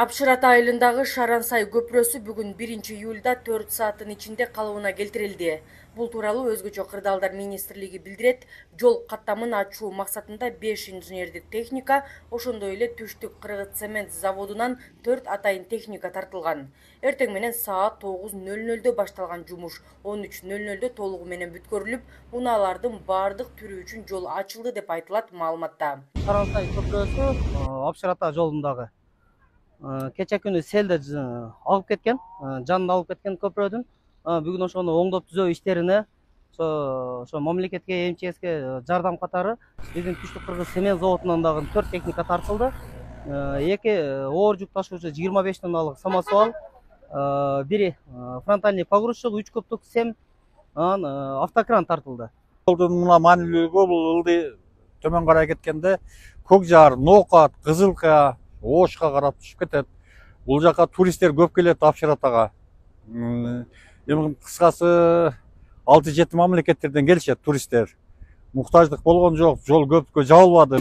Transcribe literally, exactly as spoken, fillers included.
Апшырат айылындагы Шарансай көпүрөсү бүгүн биринчи июлда төрт сааттын ичинде калыбына келтирилди. Бул тууралуу Өзгөчө кырдаалдар министрлиги билдирет. Жол каттамын ачуу максатында беш инженердик техника, ошондой эле Түштүк Кыргыз цемент заводунан төрт атайын техника тартылган. Эртең менен саат тогуз нөл нөлдө башталган жумуш он үч нөл нөлдө толугу менен бүткөрүлүп, унаалардын баардык түрү үчүн жол ачылды деп айтылат маалыматта. Шарансай көпүрөсү Апшырата жолундагы кече күнү селде алып кеткен, жанын алып кеткен көпүрөдүн бүгүн ошону оңдоп түзөө иштерине ошо мамлекетке, эм че эске жардам катары биздин Түштүк Кыргыз цемент заводунан дагы төрт техника тартылды. Эки оор жүк ташуучу жыйырма беш тонналык самосвал, бири фронтальный погрузчик, үч кубтук сем, анан автокран тартылды. Жолдун мына маанилүүлүгү бул ылдый төмөн карай кеткенде Көк Жаар, Ноокат, Кызылка, Ошко карап түшүп кетет. Бул жака туристтер көп келет Апшыратага. Эми кыскасы алты жети мамлекеттерден келишет туристтер. Муктаждык болгон жок, жол көпкө жабылбады.